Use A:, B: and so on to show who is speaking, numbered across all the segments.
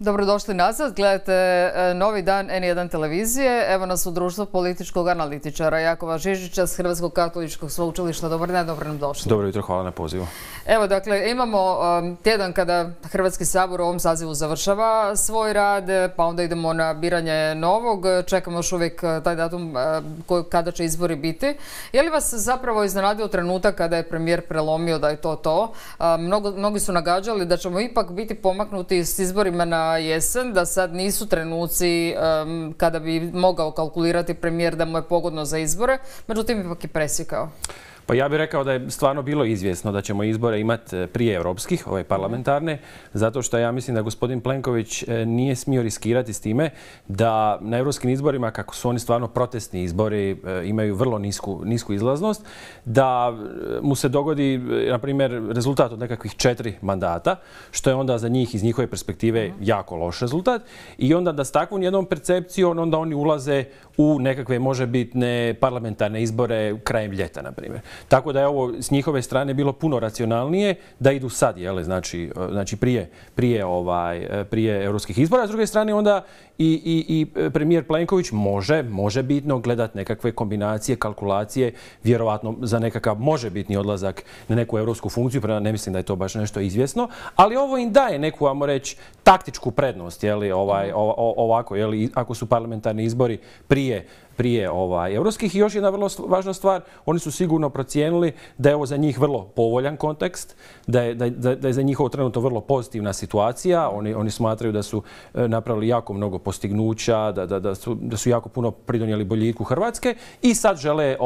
A: Dobrodošli nazad, gledate Novi dan N1 televizije. Evo nas u društvu političkog analitičara Jakova Žižića s Hrvatskog katoličkog sveučilišta. Dobar dan, dobro nam došli.
B: Dobro jutro, hvala na pozivu.
A: Evo, dakle, imamo tjedan kada Hrvatski sabor u ovom sazivu završava svoj rad, pa onda idemo na biranje novog. Čekamo još uvijek taj datum kada će izbori biti. Je li vas zapravo iznenadio trenutak kada je premijer prelomio da je to? Mnogi su nagađali da ćemo ipak biti pomaknuti s izborima na jesen, da sad nisu trenuci kada bi mogao kalkulirati premijer da mu je pogodno za izbore, međutim ipak je presjekao.
B: Pa ja bih rekao da je stvarno bilo izvjesno da ćemo izbore imati prije europskih, ove parlamentarne, zato što ja mislim da gospodin Plenković nije smio riskirati s time da na europskim izborima, kako su oni stvarno protestni izbori, imaju vrlo nisku izlaznost, da mu se dogodi, na primjer, rezultat od nekakvih 4 mandata, što je onda za njih iz njihove perspektive jako loš rezultat, i onda da s takvom jednom percepcijom onda oni ulaze u nekakve možebitne parlamentarne izbore krajem ljeta, na primjer. Tako da je ovo s njihove strane bilo puno racionalnije da idu sad, znači prije europskih izbora. S druge strane onda i premijer Plenković može bitno gledati nekakve kombinacije, kalkulacije, vjerovatno za nekakav možebitni odlazak na neku europsku funkciju, prema ne mislim da je to baš nešto izvjesno, ali ovo im daje neku, ajmo reći, taktičku prednost, ovako, ako su parlamentarni izbori prije europskih. I još jedna vrlo važna stvar, oni su sigurno procijenili da je ovo za njih vrlo povoljan kontekst, da je za njih ovo trenutno vrlo pozitivna situacija. Oni smatraju da su napravili jako mnogo postignuća, da su jako puno pridonijeli boljitku Hrvatske i sad žele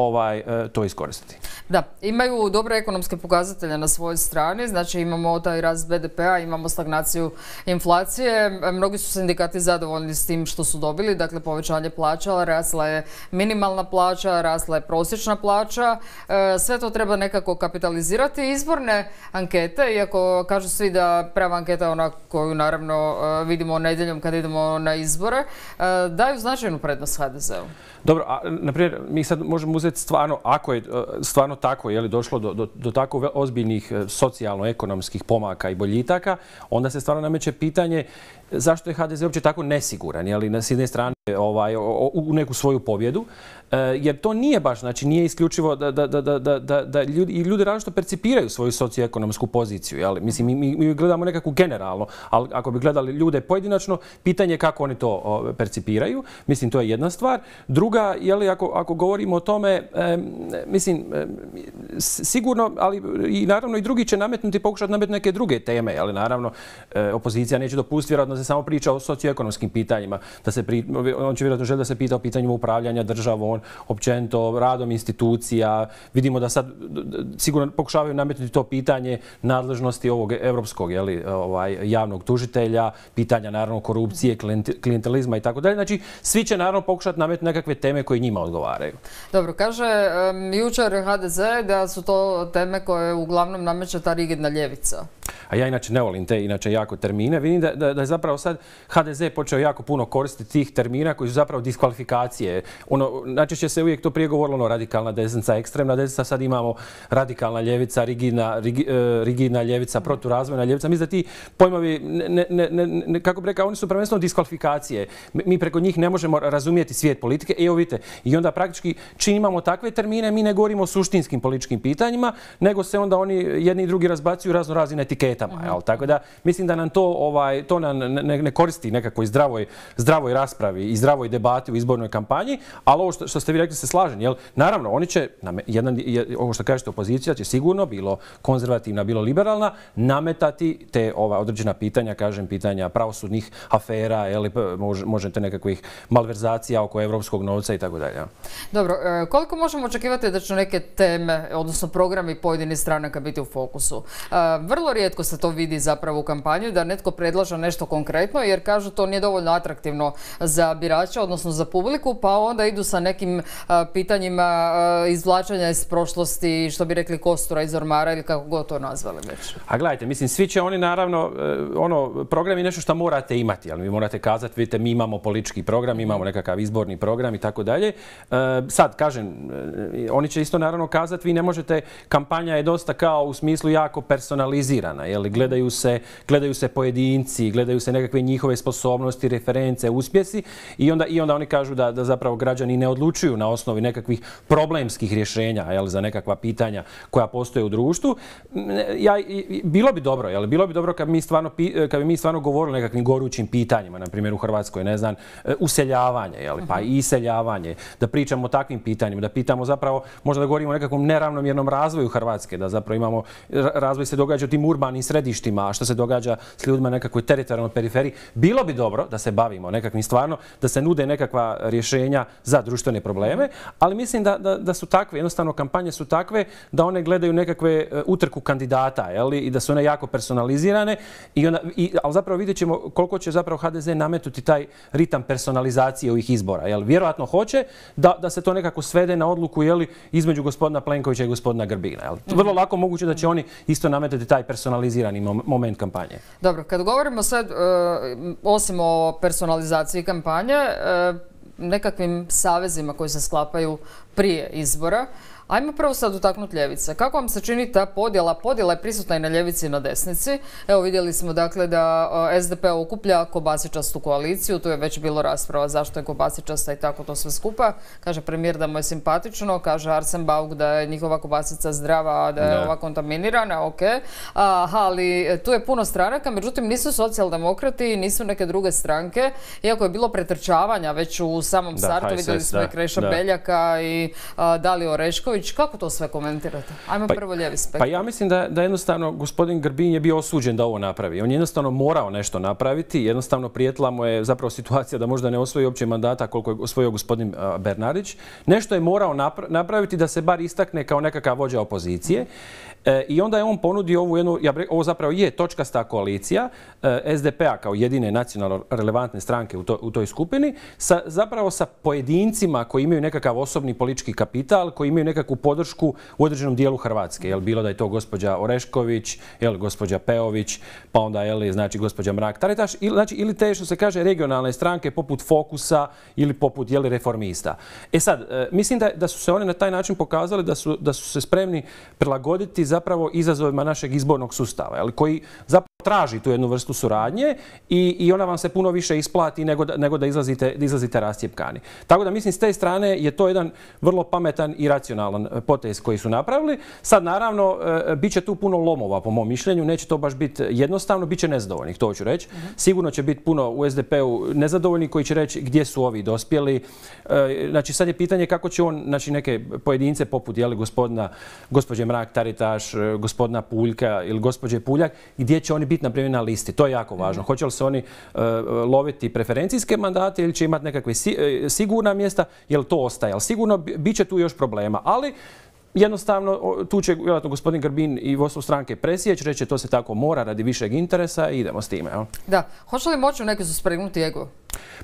B: to iskoristiti.
A: Da, imaju dobre ekonomske pokazatelje na svojoj strani, znači imamo taj rast BDP-a, imamo stagnaciju inflacije. Mnogi su sindikati zadovoljni s tim što su dobili, dakle povećanje plaća, rasla je minimalna plaća, rasla je prosječna plaća. Sve to treba nekako kapitalizirati. Izborne ankete, iako kažu svi da prava anketa je ona koju naravno vidimo nedjeljom kad idemo na izbore, daju značajnu prednost HDZ-u.
B: Dobro, naprimjer, mi sad možemo uzeti stvarno, ako je stvarno tako, došlo do tako ozbiljnih socijalno-ekonomskih pomaka i boljitaka, onda se stvarno nameće pitanje zašto je HDZ uopće tako nesiguran, s jedne strane u neku svoju pobjedu, jer to nije baš, znači nije isključivo da ljudi različito percipiraju svoju socioekonomsku poziciju. Mislim, mi gledamo nekakvu generalno, ali ako bi gledali ljude pojedinačno, pitanje je kako oni to percipiraju. Mislim, to je jedna stvar. Druga, ako govorimo o tome, mislim, sigurno, ali i naravno i drugi će pokušati nametnuti neke druge teme, ali naravno opozicija neće dopustiti, vjerojatno se samo priča o socioekonomskim pitanjima, on će vjerojatno želi da se pita o pitanjima upravljanja državom, općenito radom institucija. Vidimo da sad sigurno pokušavaju nametnuti to pitanje nadležnosti ovog europskog javnog tužitelja, pitanja naravno korupcije, klijentelizma i tako dalje. Znači, svi će naravno pokušati nametnuti nekakve teme koje njima odgovaraju.
A: Dobro, kaže jučer HDZ da su to teme koje uglavnom nameće ta rigidna ljevica.
B: A ja inače ne volim te jako termine. Vidim da je zapravo sad HDZ počeo jako puno koristiti tih termina koji su zapravo diskvalifikacije. Najčešće se uvijek to prije govorilo radikalna desnica, ekstremna desnica, sad imamo radikalna ljevica, rigidna ljevica, proturazvojna ljevica. Mislim da ti pojmovi, kako bi rekao, oni su prvenstveno diskvalifikacije. Mi preko njih ne možemo razumijeti svijet politike. Evo vidite, i onda praktički čim imamo takve termine, mi ne govorimo o suštinskim političkim pitanjima, nego se onda oni jedni i drugi razbacuju razno raznim etiketama. Tako da mislim da nam to ne koristi nekakvoj zdravoj raspravi i zdravoj debati u izbornoj kampanji, ali ovo što ste vi rekli se slažem. Naravno, oni će, ovo što kažete, opozicija će sigurno, bilo konzervativna, bilo liberalna, nametati te određena pitanja, kažem, pitanja pravosudnih afera, možete nekakvih malverzacija oko evropskog novca i tako dalje.
A: Dobro, koliko možemo očekivati da će neke teme, odnosno programi pojedinih stranaka biti u fokusu? Vrlo rijetko se to vidi zapravo u kampanji, da netko predlaže nešto konkretno, jer kažu to nije dovoljno atraktivno za birače, odnosno za publiku, pa onda idu sa nekim nekim pitanjima izvlačenja iz prošlosti, što bi rekli kostura iz ormara ili kako god to nazvali već.
B: A gledajte, mislim, svi će oni naravno, program je nešto što morate imati, ali vi morate kazati, vidite, mi imamo politički program, imamo nekakav izborni program i tako dalje. Sad, kažem, oni će isto naravno kazati, vi ne možete, kampanja je dosta kao u smislu jako personalizirana, jel? Gledaju se pojedinci, gledaju se nekakve njihove sposobnosti, reference, uspjesi i onda oni kažu da zapravo građani ne odlučuju na osnovi nekakvih problemskih rješenja, jel, za nekakva pitanja koja postoje u društvu. Bilo bi dobro, jel? Bilo bi dobro kad bi mi stvarno govorili o nekakvim gorućim pitanjima, na primjer u Hrvatskoj, ne znam, useljavanje, jel, pa i iseljavanje, da pričamo o takvim pitanjima, da pitamo zapravo, možda da govorimo o nekakvom neravnomjernom razvoju Hrvatske, da zapravo imamo, razvoj se događa u tim urbanim središtima, a što se događa s ljudima na nekakvoj teritorijalnoj periferiji. Bilo bi dobro da se bavimo nekakvim stvarno, da se nude nekakva rješenja za društvene probleme, ali mislim da su takve, jednostavno kampanje su takve da one gledaju nekakve utrku kandidata, jel, i da su one jako personalizirane, ali zapravo vidjet ćemo koliko će zapravo HDZ nametnuti taj ritam personalizacije ovih izbora. Jel, vjerojatno hoće da se to nekako svede na odluku, jel, između gospodina Plenkovića i gospodina Grbina. Jel. Vrlo lako moguće da će oni isto nametati taj personalizirani moment kampanje.
A: Dobro, kad govorimo sad, osim o personalizaciji kampanje, nekakvim savezima koji se sklapaju prije izbora, ajmo prvo sad dotaknuti ljevice. Kako vam se čini ta podjela? Podjela je prisutna i na ljevici i na desnici. Evo vidjeli smo dakle da SDP okuplja kobasičastu koaliciju. Tu je već bilo rasprava zašto je kobasičasta i tako to sve skupa. Kaže premijer da mu je simpatično, kaže Arsen Bauk da je njihova kobasica zdrava, a da je ova kontaminirana, ok. Ali tu je puno stranaka, međutim nisu socijaldemokrati, nisu neke druge stranke. Iako je bilo pretrčavanja već u samom startu, vidjeli smo i Kreša Beljaka i Daliju Orešković. Kako to sve komentirate? Ajmo prvo lijevi spektar.
B: Pa ja mislim da jednostavno gospodin Grbin je bio osuđen da ovo napravi. On je jednostavno morao nešto napraviti. Jednostavno prijetila mu je zapravo situacija da možda ne osvoji uopće mandata koliko je osvojio gospodin Bernardić. Nešto je morao napraviti da se bar istakne kao nekakav vođa opozicije. I onda je on ponudio ovu jednu, ovo zapravo je točkasta koalicija SDP-a kao jedine nacionalno relevantne stranke u toj skupini, zapravo sa pojedincima koji imaju nekakav osobni politički kapital, koji imaju nekakvu podršku u određenom dijelu Hrvatske. Jel, bilo da je to gospođa Orešković, jel, gospođa Peović, pa onda znači gospođa Mrak-Taritaš, ili te što se kaže regionalne stranke poput Fokusa ili poput Reformista. E sad, mislim da su se one na taj način pokazali da su se spremni prilagoditi zapravo izazovima našeg izbornog sustava, ali koji zapravo traži tu jednu vrstu suradnje i ona vam se puno više isplati nego da izlazite rascjepkani. Tako da mislim s te strane je to jedan vrlo pametan i racionalan potez koji su napravili. Sad naravno bit će tu puno lomova po mom mišljenju, neće to baš biti jednostavno, bit će nezadovoljnih, to ću reći. Sigurno će biti puno u SDP-u nezadovoljni koji će reći gdje su ovi dospjeli. Znači sad je pitanje kako će on, znači neke pojedince poput gospođe Mrak-Taritaš, gospodina Puljka ili gospođe Puljak, gdje će oni biti na primjer na listi. To je jako važno. Hoće li se oni loviti preferencijske mandate ili će imati nekakve sigurna mjesta, jel to ostaje. Ali sigurno bit će tu još problema. Ali jednostavno tu će vjerojatno gospodin Grbin i vodstvo stranke presjeći, reći to se tako mora radi višeg interesa i idemo s time. Jel?
A: Da. Hoće li moći neki su spregnuti ego?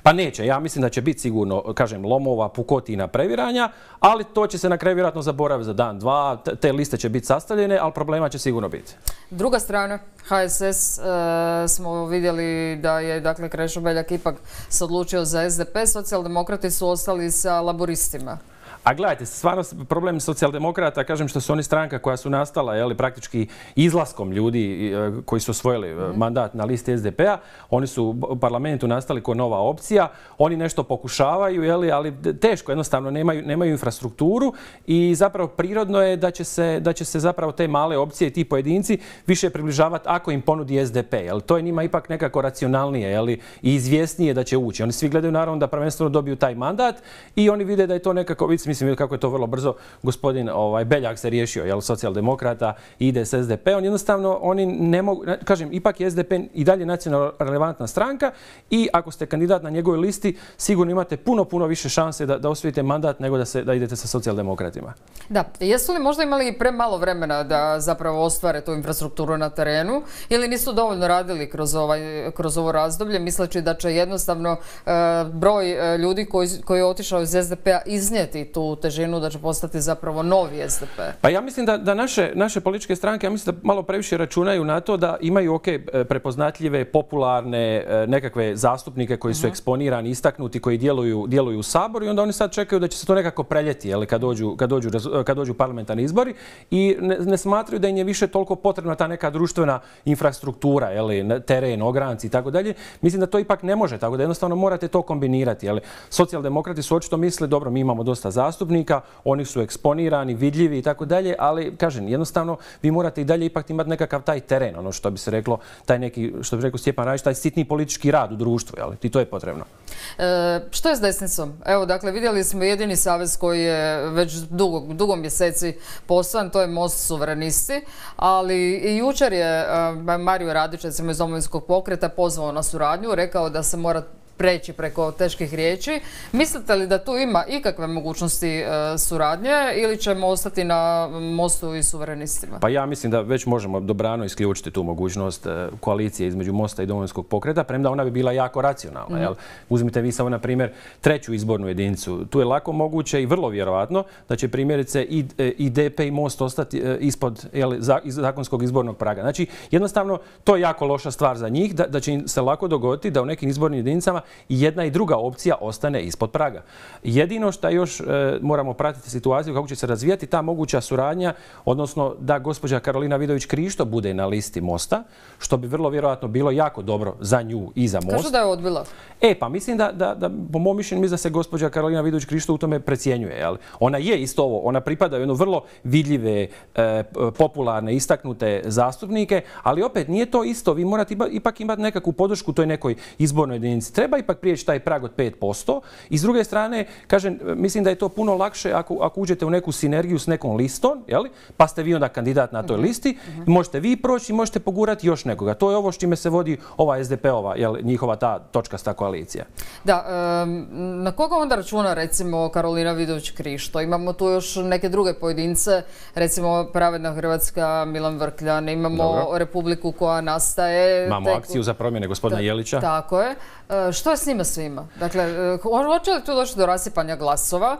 B: Pa neće. Ja mislim da će biti sigurno, kažem, lomova, pukotina, previranja, ali to će se na kraju vjerojatno zaboraviti za dan, dva. Te liste će biti sastavljene, ali problema će sigurno biti.
A: Druga strana, HSS, smo vidjeli da je dakle Krešo Beljak ipak se odlučio za SDP, socijaldemokrati su ostali sa laboristima.
B: A gledajte, stvarno problem socijaldemokrata, kažem što su oni stranka koja su nastala praktički izlaskom ljudi koji su osvojili mandat na listi SDP-a. Oni su u parlamentu nastali kao nova opcija. Oni nešto pokušavaju, ali teško, jednostavno nemaju infrastrukturu i zapravo prirodno je da će se zapravo te male opcije i ti pojedinci više približavati ako im ponudi SDP. To je njima ipak nekako racionalnije i izvjesnije da će ući. Oni svi gledaju naravno da prvenstveno dobiju taj mandat i oni vide da je to nekako, mislim, mislim kako je to vrlo brzo gospodin Beljak se riješio, jel, socijaldemokrata, ide s SDP-om. Jednostavno, oni ne mogu, kažem, ipak je SDP i dalje nacionalno relevantna stranka i ako ste kandidat na njegovoj listi, sigurno imate puno više šanse da osvojite mandat nego da idete sa socijaldemokratima.
A: Da, jesu li možda imali premalo vremena da zapravo ostvare tu infrastrukturu na terenu ili nisu dovoljno radili kroz ovo razdoblje, misleći da će jednostavno broj ljudi koji je otišao iz SDP-a iznijeti tu težinu, da će postati zapravo novi SDP?
B: Pa ja mislim da naše političke stranke, ja mislim da malo previše računaju na to da imaju prepoznatljive, popularne nekakve zastupnike koji su eksponirani, istaknuti, koji djeluju u Saboru i onda oni sad čekaju da će se to nekako preljeti kad dođu parlamentarni izbori i ne smatraju da im je više toliko potrebna ta neka društvena infrastruktura, teren, ogranci i tako dalje. Mislim da to ipak ne može, tako da jednostavno morate to kombinirati. Socijaldemokrati su očito misle, dobro, mi imamo dosta zastupnika, oni su eksponirani, vidljivi i tako dalje, ali kažem, jednostavno vi morate i dalje ipak imati nekakav taj teren, ono što bi se reklo, taj neki, što bi rekao Stjepan Radić, taj sitni politički rad u društvu, i to je potrebno.
A: Što je s desnicom? Evo, dakle, vidjeli smo jedini savez koji je već dugo mjeseci poslan, to je Most suverenisti, ali i jučer je Mario Radić, recimo iz Domovinskog pokreta, pozvao na suradnju, rekao da se mora preći preko teških riječi. Mislite li da tu ima ikakve mogućnosti suradnje ili ćemo ostati na Mostu i suverenistima?
B: Pa ja mislim da već možemo dobrano isključiti tu mogućnost koalicije između Mosta i Domovinskog pokreta, premda ona bi bila jako racionalna. Uzmite vi samo, na primjer, 3. izbornu jedinicu. Tu je lako moguće i vrlo vjerovatno da će primjerice i DP i Most ostati ispod zakonskog izbornog praga. Znači, jednostavno, to je jako loša stvar za njih, da će im se lako dogoditi da u nekim izbornim jedinicama i jedna i druga opcija ostane ispod praga. Jedino što još moramo pratiti situaciju kako će se razvijati ta moguća suradnja, odnosno da gospođa Karolina Vidović Krišto bude na listi Mosta, što bi vrlo vjerojatno bilo jako dobro za nju i za Most.
A: Kažu da je odbila.
B: Pa mislim da po mom mišljenju, mislim da se gospođa Karolina Vidović Krišto u tome precjenjuje. Ona je isto ovo, ona pripada u jedno vrlo vidljive, popularne, istaknute zastupnike, ali opet nije to isto. Vi morate ipak imati nekakvu podršku toj nekoj izbornoj jedinici. Treba ipak prijeći taj prag od 5%. I s druge strane, kažem, mislim da je to puno lakše ako uđete u neku sinergiju s nekom listom, pa ste vi onda kandidat na toj listi, možete vi proći i možete pogurati još nekoga. To je ovo s čime se vodi ova SDP-ova, njihova ta točkasta koalicija.
A: Da, na koga onda računa recimo Karolina Vidović Krišto? Imamo tu još neke druge pojedince, recimo Pravedna Hrvatska, Milan Vrkljan, imamo Republiku koja nastaje.
B: Imamo akciju za promjene gospodina Jelića.
A: Tako je. Što je s njima svima? Dakle, hoće li tu doći do rasipanja glasova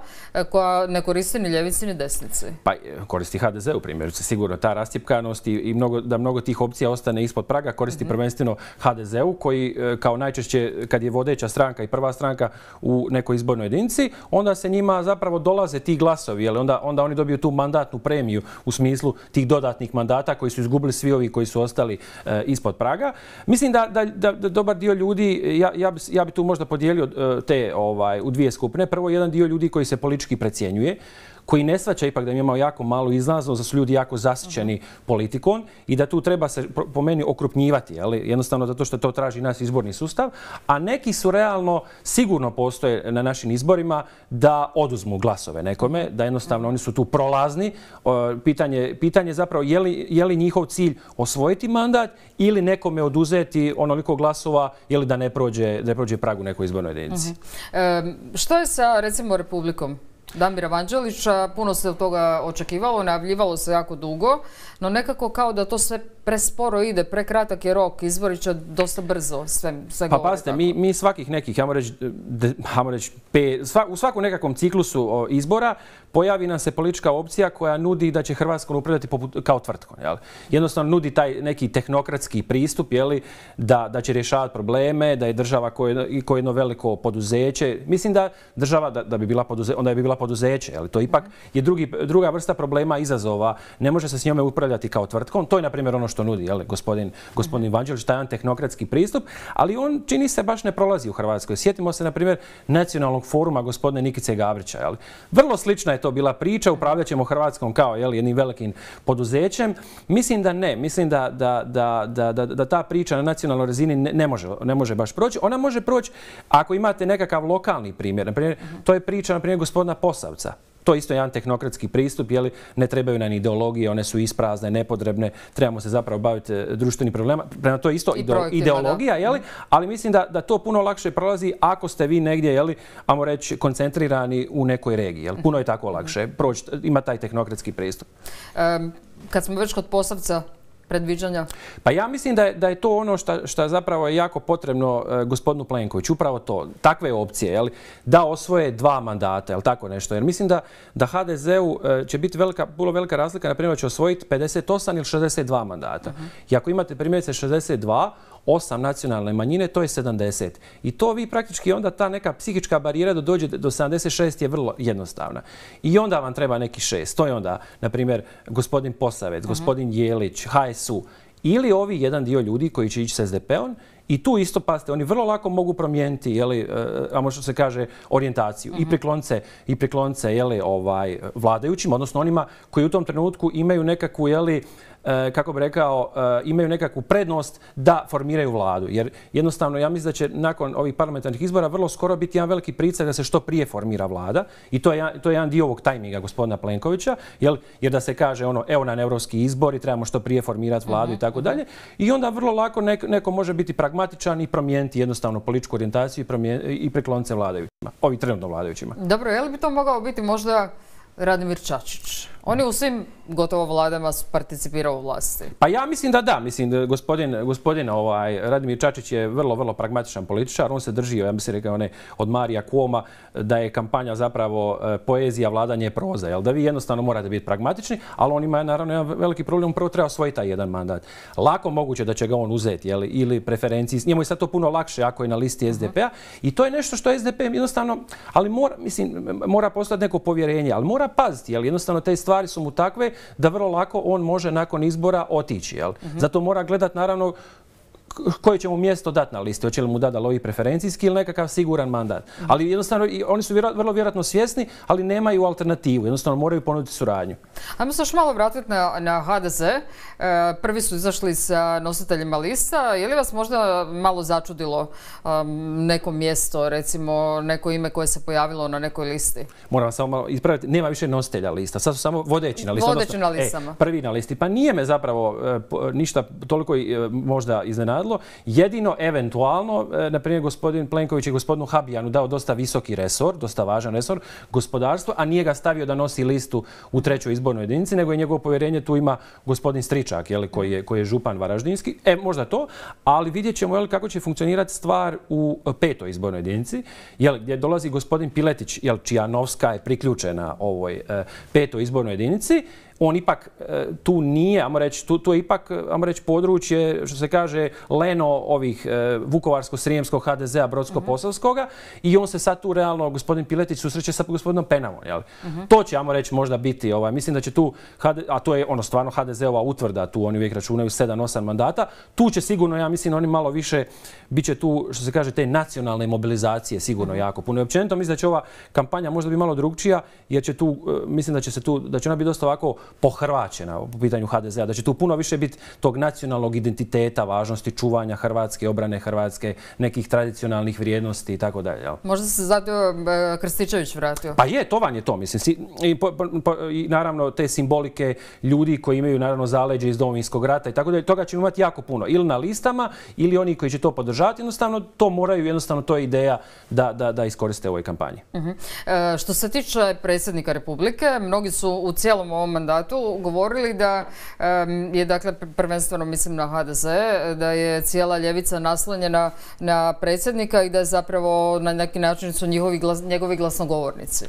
A: koja ne koristi ni ljevici ni desnici?
B: Pa koristi HDZ-u primjerice. Sigurno ta rascjepkanost i da mnogo tih opcija ostane ispod praga koristi prvenstveno HDZ-u koji kao najčešće kad je vodeća stranka i prva stranka u nekoj izbornoj jedinici, onda se njima zapravo dolaze ti glasovi, onda oni dobiju tu mandatnu premiju u smislu tih dodatnih mandata koji su izgubili svi ovi koji su ostali ispod praga. Mislim da dobar dio ljudi, ja bi tu možda podijelio te u dvije skupine. Prvo, jedan dio ljudi koji se politički precjenjuje, koji ne shvaća ipak da imamo jako malu izlaznost, da su ljudi jako zasićeni politikom i da tu treba se po meni okrupnjivati, jednostavno zato što to traži naš izborni sustav, a neki su realno sigurno postoje na našim izborima da oduzmu glasove nekome, da jednostavno oni su tu prolazni. Pitanje zapravo je li njihov cilj osvojiti mandat ili nekome oduzeti onoliko glasova ili da ne prođe prag u nekoj izbornoj jedinici.
A: Što je sa recimo Republikom Damira Vanđelića? Puno se od toga očekivalo, najavljivalo se jako dugo, no nekako kao da to sve presporo ide, prekratak je rok, izbori će dosta brzo sve govore.
B: Pa pazite, mi svakih nekih, u svakom nekakvom ciklusu izbora pojavi nam se politička opcija koja nudi da će Hrvatskom upravljati kao tvrtkom. Jednostavno nudi taj neki tehnokratski pristup, da će rješavati probleme, da je država kao jedno veliko poduzeće. Mislim da država, da bi bila onda bi bila poduzeće. To ipak je druga vrsta problema, izazova. Ne može se s njome upravljati kao tvrtkom. To je, na primjer, ono što nudi gospodin Vanđelić, taj jedan tehnokratski pristup, ali on čini se baš ne prolazi u Hrvatskoj. Sjetimo se, na primjer, nacionalnog foruma gospodine Nikice Gabrića. Vrlo slična je to bila priča, upravljat ćemo Hrvatskom kao jednim velikim poduzećem. Mislim da ne. Mislim da ta priča na nacionalnoj razini ne može baš proći. Ona može proći ako imate nekakav lokalni primjer. Na primjer, to je priča, na primjer, gospodina Posavca. To je isto jedan tehnokratski pristup, jeli, ne trebaju nam ideologije, one su isprazne, nepotrebne, trebamo se zapravo baviti društvenim problema. Prema to je isto ideologija, jeli, ali mislim da to puno lakše prolazi ako ste vi negdje, jeli, ajmo reći, koncentrirani u nekoj regiji. Jeli. Puno je tako lakše proći, ima taj tehnokratski pristup.
A: Kad smo već kod Posavca, predviđanja?
B: Pa ja mislim da je to ono što zapravo je jako potrebno gospodinu Plenkoviću. Upravo to, takve opcije, jel, da osvoje 2 mandata, jel tako nešto. Jer mislim da HDZ-u će biti puno velika razlika, na primjer će osvojiti 58 ili 62 mandata. I ako imate primjerice 62, 8 nacionalne manjine, to je 70. I to vi praktički onda ta neka psihička barijera da dođe do 76 je vrlo jednostavna. I onda vam treba neki 6. To je onda, na primjer, gospodin Posavec, gospodin Jelić, HSU ili ovi jedan dio ljudi koji će ići s SDP-om. I tu isto, pazite, oni vrlo lako mogu promijeniti, jeli, a možda se kaže, orijentaciju. I priklonce jeli, vladajućim, odnosno onima koji u tom trenutku imaju nekakvu, jeli, kako bi rekao, imaju nekakvu prednost da formiraju vladu. Jer jednostavno, ja mislim da će nakon ovih parlamentarnih izbora vrlo skoro biti jedan veliki pritisak da se što prije formira vlada. I to je jedan dio ovog tajminga gospodina Plenkovića. Jer da se kaže, evo nam europski izbori, trebamo što prije formirati vladu i tako dalje. I onda vrlo lako neko može biti pragmatičan i promijeniti jednostavno političku orijentaciju i priklonce vladajućima. Ovi trenutno vladajućima.
A: Dobro, je li bi to mogao biti možda Radimir Čačić? Oni u svim gotovo vladama su participirao u vlasti.
B: Pa ja mislim da da. Mislim da gospodin Radimir Čačić je vrlo, vrlo pragmatičan političar. On se drži, ja bih se rekao, od Marija Kuoma da je kampanja zapravo poezija, vladanje proza. Jel? Da vi jednostavno morate biti pragmatični, ali on ima naravno jedan veliki problem. Prvo treba osvojiti taj jedan mandat. Lako moguće da će ga on uzeti, jel? Ili preferenciji. Njemu je sad to puno lakše ako je na listi SDP-a. I to je nešto što SDP jednostavno, ali mora postati neko povjerenje, ali mora paziti, jel? Jednostavno te stvari su mu takve da vrlo lako on može nakon izbora otići. Jel? Zato mora gledati naravno koje će mu mjesto dati na listi. Hoće li mu dati ovi preferencijski ili nekakav siguran mandat. Ali jednostavno oni su vrlo vjerojatno svjesni, ali nemaju alternativu. Jednostavno moraju ponuditi suradnju.
A: Ajmo se još malo vratiti na HDZ. Prvi su izašli sa nositeljima lista. Je li vas možda malo začudilo neko mjesto, recimo neko ime koje se pojavilo na nekoj listi?
B: Moram samo malo ispraviti. Nema više nositelja lista. Sad su samo vodeći na listi.
A: Vodeći na listama.
B: Prvi na listi. Pa nije me zapravo ništa toliko možda iznenadilo. Jedino, eventualno, na primjer, gospodin Plenković je gospodinu Habijanu dao dosta visoki resor, dosta važan resor, gospodarstvo, a nije ga stavio da nosi listu u 3. izbornoj jedinici, nego je njegovo povjerenje tu ima gospodin Stričak, koji je župan varaždinski. Možda to, ali vidjet ćemo kako će funkcionirati stvar u 5. izbornoj jedinici, gdje dolazi gospodin Piletić, čija Novska je priključena ovoj 5. izbornoj jedinici. On ipak tu nije, tu je ipak, područje, što se kaže, leno ovih Vukovarsko-srijemskog HDZ-a, Brodsko-posavskoga i on se sad tu realno, gospodin Piletić, susreće sa gospodinom Penamom. To će, možda biti, mislim da će tu, a to je stvarno HDZ-ova utvrda, tu oni uvijek računaju 7-8 mandata, tu će sigurno, ja mislim, oni malo više, bit će tu, što se kaže, te nacionalne mobilizacije sigurno jako puno. I općenito mislim da će ova kampanja možda biti malo drugčija, jer će tu, mislim da će ona biti dosta ovako pohrvaćena po pitanju HDZ-a, da će tu puno više biti tog nacionalnog identiteta, važnosti čuvanja Hrvatske, obrane Hrvatske, nekih tradicionalnih vrijednosti i tako dalje.
A: Možda se zato Krstičević vratio.
B: Pa je, to vam je to, mislim. I naravno te simbolike ljudi koji imaju naravno zaleđe iz Domovinskog rata i tako dalje, toga ćemo imati jako puno. Ili na listama, ili oni koji će to podržati, jednostavno to moraju, jednostavno to je ideja da iskoriste u ovoj kampanji.
A: Što se tiče predsjednika Republike, mnogi su u cijelom ovom mandatu govorili da je, dakle, prvenstveno mislim na HDZ, da je cijela ljevica naslonjena na predsjednika i da je zapravo na neki način su njegovi glasnogovornici.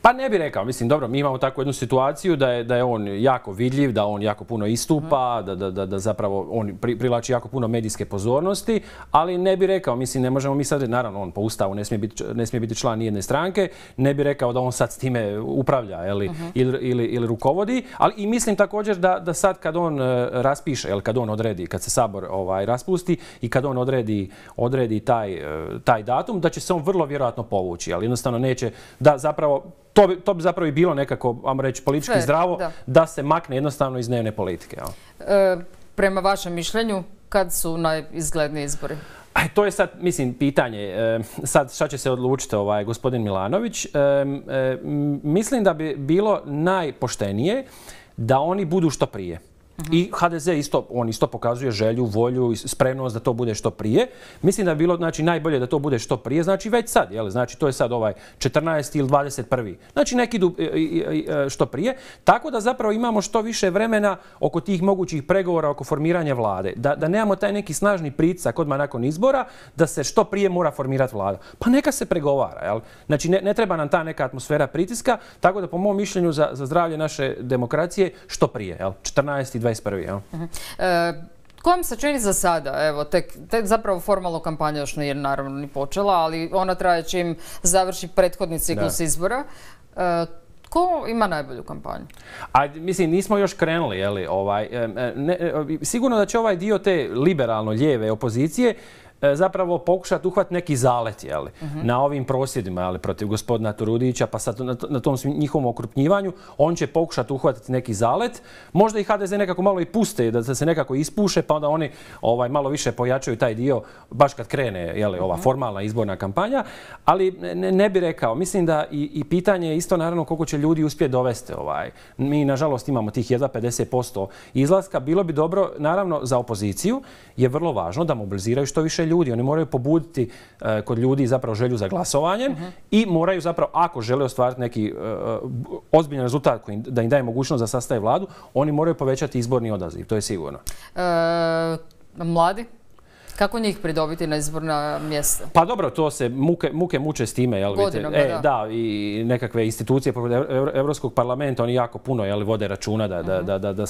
B: Pa ne bih rekao, mislim, dobro, mi imamo takvu jednu situaciju da je on jako vidljiv, da on jako puno istupa, da zapravo on privlači jako puno medijske pozornosti, ali ne bih rekao, mislim, ne možemo mi sad, naravno, on po Ustavu ne smije biti član nijedne stranke, ne bih rekao da on sad s time upravlja ili rukovodi, ali i mislim također da sad kad on raspiše, kad on odredi, kad se Sabor raspusti i kad on odredi taj datum, da će se on vrlo vjerojatno povući, ali jednostavno neće, da zapravo to bi zapravo i bilo nekako, ajmo reći, politički zdravo, da se makne jednostavno iz dnevne politike.
A: Prema vašem mišljenju, kad su najizgledniji izbori?
B: To je sad, mislim, pitanje. Sad šta će se odlučiti gospodin Milanović. Mislim da bi bilo najpoštenije da oni budu što prije. I HDZ on isto pokazuje želju, volju i spremnost da to bude što prije. Mislim da bi bilo najbolje da to bude što prije, znači već sad. Znači to je sad 14. ili 21. Znači neki idu što prije. Tako da zapravo imamo što više vremena oko tih mogućih pregovora, oko formiranja vlade. Da nemamo taj neki snažni pritisak odmah nakon izbora da se što prije mora formirati vlada. Pa neka se pregovara. Znači ne treba nam ta neka atmosfera pritiska, tako da po mom mišljenju za zdravlje naše demokracije što prije. 14. i 21.
A: Ko vam se čini za sada? Evo, tek zapravo formalno kampanja još nije naravno ni počela, ali ona traje čim završi prethodni ciklus izbora. Ko ima najbolju kampanju?
B: Mislim, nismo još krenuli. Sigurno da će ovaj dio te liberalno-lijeve opozicije zapravo pokušati uhvatiti neki zalet na ovim prosvjedima protiv gospodina Turudića, pa sad na tom njihovom okrupnjivanju. On će pokušati uhvatiti neki zalet. Možda i HDZ nekako malo i puste, da se nekako ispuše, pa onda oni malo više pojačaju taj dio baš kad krene ova formalna izborna kampanja. Ali ne bi rekao. Mislim da i pitanje je isto naravno koliko će ljudi uspjeti dovesti. Mi nažalost imamo tih jedva 50% izlaska. Bilo bi dobro, naravno za opoziciju je vrlo važno da mobiliziraju što više ljudi. Oni moraju pobuditi kod ljudi zapravo želju za glasovanjem i moraju zapravo, ako žele ostvariti neki ozbiljan rezultat da im daje mogućnost da sastave vladu, oni moraju povećati izborni odaziv, to je sigurno.
A: Mladi? Kako njih pridobiti na izborna mjesta?
B: Pa dobro, to se muke muče s time.
A: Godinama,
B: da. I nekakve institucije poput Europskog parlamenta, oni jako puno vode računa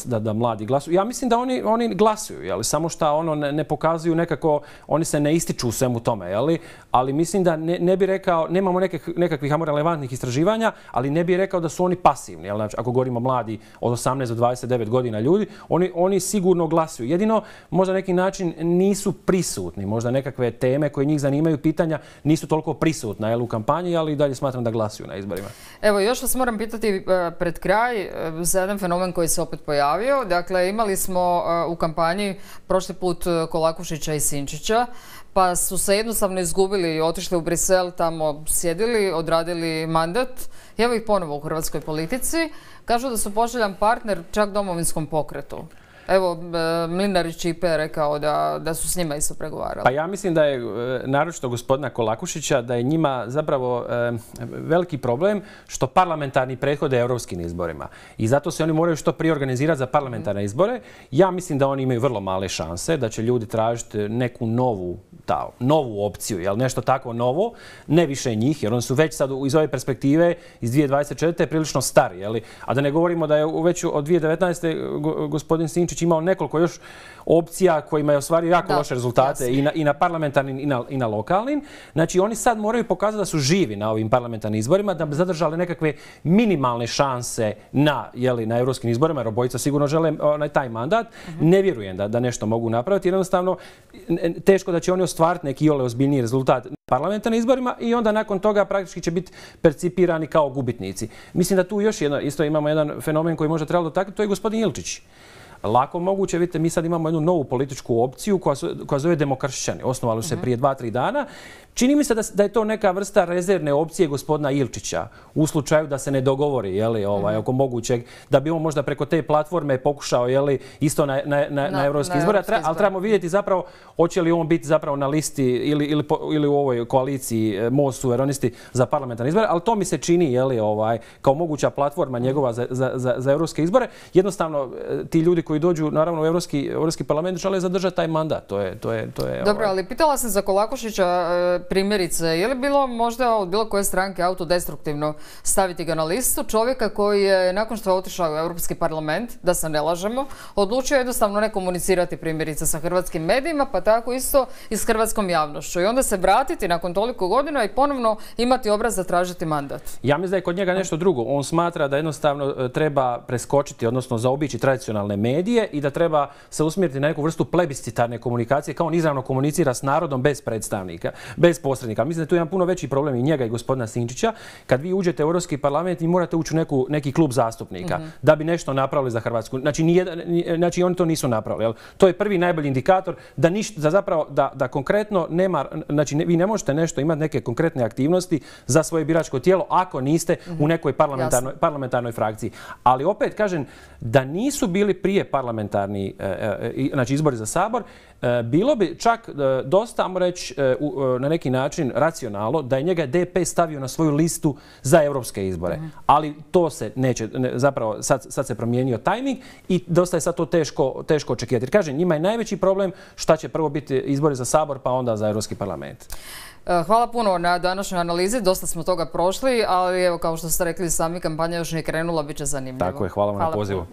B: da mladi glasuju. Ja mislim da oni glasuju, samo što ne pokazuju nekako, oni se ne ističu u svemu tome. Ali mislim da ne bi rekao, nemamo nekakvih relevantnih istraživanja, ali ne bi rekao da su oni pasivni. Ako govorimo mladi od 18 do 29 godina ljudi, oni sigurno glasuju. Jedino možda neki način nisu prisutni. Možda nekakve teme koje njih zanimaju, pitanja nisu toliko prisutna u kampanji, ali i dalje smatram da glasuju na izborima.
A: Evo, još vas moram pitati pred kraj za jedan fenomen koji se opet pojavio. Dakle, imali smo u kampanji prošli put Kolakušića i Sinčića, pa su se jednostavno izgubili i otišli u Brisel, tamo sjedili, odradili mandat. Evo ih ponovo u hrvatskoj politici. Kažu da su poželjan partner čak Domovinskom pokretu. Evo, Mlinarić IP je rekao da su s njima isto pregovarali.
B: Pa ja mislim da je, naročito gospodina Kolakušića, da je njima zapravo veliki problem što parlamentarni prethode europskim izborima. I zato se oni moraju što prije organizirati za parlamentarne izbore. Ja mislim da oni imaju vrlo male šanse, da će ljudi tražiti neku novu opciju, nešto tako novo, ne više njih, jer oni su već sad iz ove perspektive iz 2024. prilično stari. A da ne govorimo da je već od 2019. gospodin Sinčić imao nekoliko još opcija kojima je ostvario jako loše rezultate i na parlamentarnim i na lokalnim. Znači oni sad moraju pokazati da su živi na ovim parlamentarnim izborima, da bi zadržali nekakve minimalne šanse na europskim izborima, jer obojica sigurno žele taj mandat. Ne vjerujem da nešto mogu napraviti. Jednostavno, teško da će oni ostvariti neki ozbiljniji rezultat na parlamentarnim izborima i onda nakon toga praktički će biti percipirani kao gubitnici. Mislim da tu još isto imamo jedan fenomen koji možda trebalo dotaknuti, to je gospodin Ilčić. Lako moguće, vidite, mi sad imamo jednu novu političku opciju koja zove Demokršćani. Osnovali su se prije 2-3 dana. Čini mi se da je to neka vrsta rezervne opcije gospodina Ilčića u slučaju da se ne dogovori oko mogućeg, da bi on možda preko te platforme pokušao isto na europski izbore. Ali trebamo vidjeti zapravo hoće li on biti zapravo na listi ili u ovoj koaliciji Most suverenisti za parlamentarne izbore, ali to mi se čini kao moguća platforma njegova za europske izbore. Jednostavno, ti ljudi koji dođu naravno u Europski parlament žele zadržati taj mandat.
A: Dobro, ali pitala sam za Kolakušića primjerice, je li bilo možda od bilo koje stranke autodestruktivno staviti ga na listu čovjeka koji je nakon što je otišao u Europski parlament, da se ne lažemo, odlučio jednostavno ne komunicirati primjerice sa hrvatskim medijima, pa tako isto i s hrvatskom javnošću. I onda se vratiti nakon toliko godina i ponovno imati obraz da tražiti mandat.
B: Ja mislim da je kod njega nešto drugo. On smatra da jednostavno treba preskočiti, odnosno zaobići tradicionalne medije medije i da treba se usmjeriti na neku vrstu plebiscitarne komunikacije, kao on izravno komunicira s narodom bez predstavnika, bez posrednika. Mislim da je tu jedan puno veći problem i njega i gospodina Sinčića. Kad vi uđete u Europski parlament i morate ući u neki klub zastupnika da bi nešto napravili za Hrvatsku. Znači oni to nisu napravili. Jel? To je prvi najbolji indikator da konkretno nema, znači vi ne možete nešto imati neke konkretne aktivnosti za svoje biračko tijelo ako niste u nekoj parlamentarnoj frakciji. Ali opet kažem da nisu bili prije parlamentarni, znači izbori za Sabor, bilo bi čak dosta, ajmo reći, na neki način racionalno da je njega DP stavio na svoju listu za europske izbore. Ali to se neće, zapravo sad se promijenio tajming i dosta je sad to teško očekivati. Jer kažem, njima je najveći problem šta će prvo biti izbori za Sabor pa onda za Europski parlament.
A: Hvala puno na današnjoj analizi, dosta smo toga prošli, ali evo kao što ste rekli sami, kampanja još nije krenula, bit će zanimljivo.
B: Tako je, hvala vam na pozivu.